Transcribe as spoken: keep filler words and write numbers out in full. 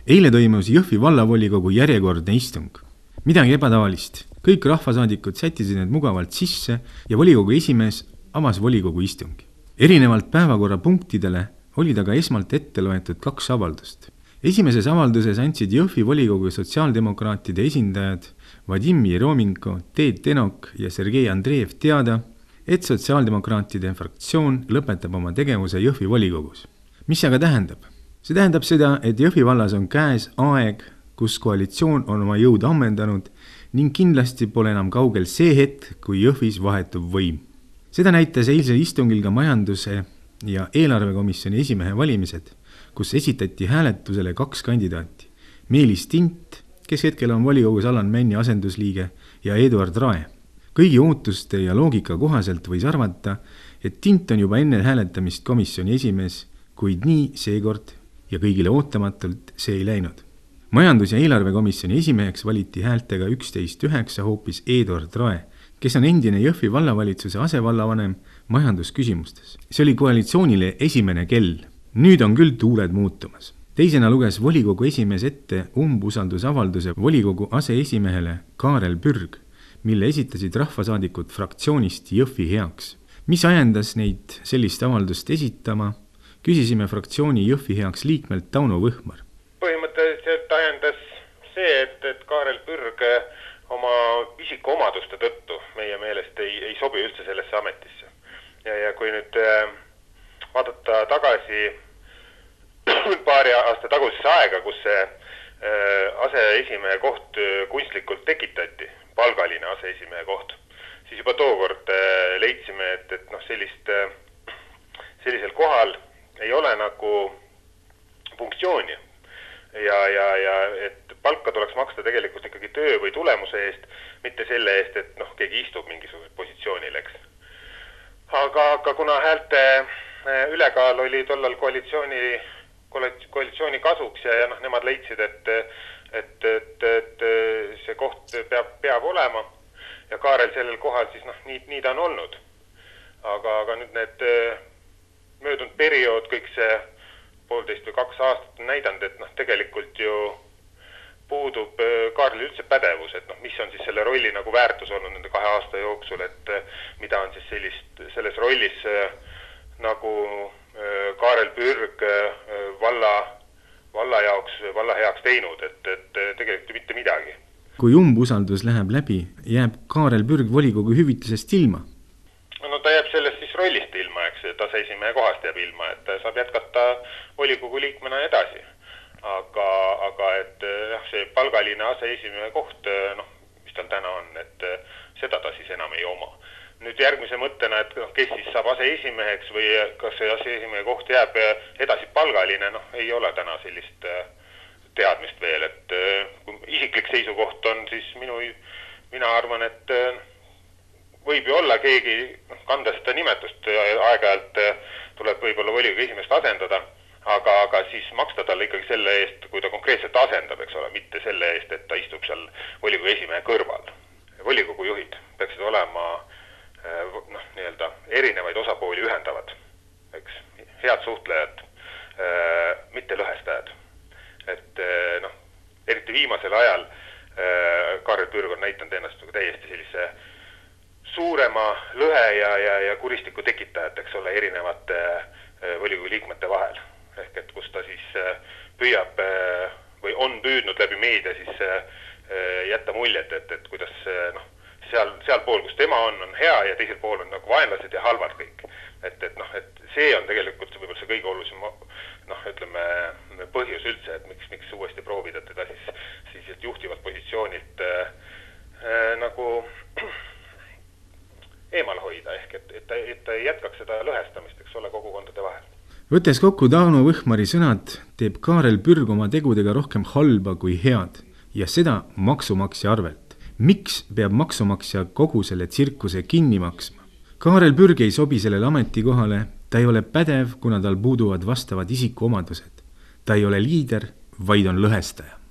Eile toimus Jõhvi vallavolikogu järjekordne istung. Midagi ebatavalist. Kõik rahvasaadikud sättisid need mugavalt sisse ja volikogu esimees avas volikogu istungi. Erinevalt päevakorra punktidele oli ta ka esmalt ette loetud kaks avaldust. Esimeses avalduses andsid Jõhvi volikogu sotsiaaldemokraatide esindajad Vadim Jerominko, Teet Tenok ja Sergei Andreev teada, et sotsiaaldemokraatide fraktsioon lõpetab oma tegevuse Jõhvi volikogus. Mis aga tähendab? See tähendab seda, et Jõhvi vallas on käes aeg, kus koalitsioon on oma jõud ammendanud ning kindlasti pole enam kaugel see hetk, kui Jõhvis vahetub võim. Seda näitas eilsel istungil ka majanduse ja eelarvekomisjoni esimehe valimised, kus esitati hääletusele kaks kandidaati. Meelis Tint, kes hetkel on volikogus Alan Männi asendusliige, ja Eduard Rae. Kõigi ootuste ja loogika kohaselt võis arvata, et Tint on juba enne hääletamist komisjoni esimees, kuid nii seekord ja kõigile ootamatult see ei läinud. Majandus- ja eelarvekomisjoni esimeheks valiti häältega üksteist üheksa hoopis Eduard Rae, kes on endine Jõhvi vallavalitsuse asevallavanem majandusküsimustes. See oli koalitsioonile esimene kell. Nüüd on küll tuuled muutumas. Teisena luges volikogu esimees ette umbusaldusavalduse volikogu aseesimehele Kaarel Pürg, mille esitasid rahvasaadikud fraktsioonist Jõhvi heaks. Mis ajendas neid sellist avaldust esitama? Küsisime fraktsiooni Jõhvi heaks liikmelt Tauno Võhmar. Põhimõtteliselt ajendas see, et, et Kaarel Pürg oma isikuomaduste tõttu meie meelest ei, ei sobi üldse sellesse ametisse. Ja, ja kui nüüd vaadata tagasi paari aasta tagusesse aega, kus see aseesimehe koht kunstlikult tekitati, palgaline aseesimehe koht, siis juba tookord leidsime, et, et noh, sellist, sellisel kohal ei ole nagu funktsiooni ja, ja, ja et palka tuleks maksta tegelikult ikkagi töö või tulemuse eest, mitte selle eest, et noh, keegi istub mingisugusel positsioonil, eks. Aga, aga kuna häälte ülekaal oli tollal koalitsiooni, koalitsiooni kasuks ja, ja noh, nemad leidsid, et, et, et, et see koht peab, peab olema ja Kaarel sellel kohal siis noh, nii, nii ta on olnud. Aga, aga nüüd need möödunud periood, kõik see poolteist või kaks aastat on näidanud, et noh, tegelikult ju puudub Kaarli üldse pädevus, et noh, mis on siis selle rolli nagu väärtus olnud nende kahe aasta jooksul, et mida on siis sellist, selles rollis nagu Kaarel Pürg valla, valla jaoks, valla heaks teinud, et, et tegelikult mitte midagi. Kui umbusaldus läheb läbi, jääb Kaarel Pürg volikogu hüvitisest ilma? No ta jääb sellest siis rollist ilma, eks, et aseesimehe kohast jääb ilma, et saab jätkata volikogu liikmena edasi. Aga, aga et see palgaline aseesimehe koht, noh, mis tal täna on, et seda ta siis enam ei oma. Nüüd järgmise mõttena, et kes siis saab aseesimeheks või kas see aseesimehe koht jääb edasi palgaline, noh, ei ole täna sellist teadmist veel, et kui isiklik seisukoht on, siis minu, mina arvan, et võib ju olla keegi kanda seda nimetust, aeg-ajalt tuleb võib-olla volikogu esimest asendada, aga, aga siis maksta talle ikkagi selle eest, kui ta konkreetselt asendab, eks ole, mitte selle eest, et ta istub seal volikogu esimehe kõrval. Volikogu juhid peaksid olema noh, nii-öelda erinevaid osapooli ühendavad, eks, head suhtlejad, mitte lõhestajad. Et noh, eriti viimasel ajal Kaarel Pürg on näitanud ennast täiesti sellise suurema lõhe ja, ja, ja kuristiku tekitajat, eks ole, erinevate volikogu liikmete vahel. Ehk et kus ta siis püüab või on püüdnud läbi meedia siis jätta muljet, et, et kuidas noh, seal, seal pool, kus tema on, on hea ja teisel pool on nagu vaenlased ja halvad kõik. Et, et noh, et see on tegelikult võib-olla see kõige olulisem noh, ütleme, põhjus üldse, et miks, miks uuesti proovida teda siis, siis juhtivalt positsioonilt äh, nagu eemal hoida, ehk et, et, ta, et ta ei jätkaks seda lõhestamist, eks ole, kogukondade vahel. Võttes kokku Tauno Võhmari sõnad, teeb Kaarel Pürg oma tegudega rohkem halba kui head ja seda maksumaksja arvelt. Miks peab maksumaksja kogu selle tsirkuse kinni maksma? Kaarel Pürg ei sobi sellele ametikohale, ta ei ole pädev, kuna tal puuduvad vastavad isikuomadused. Ta ei ole liider, vaid on lõhestaja.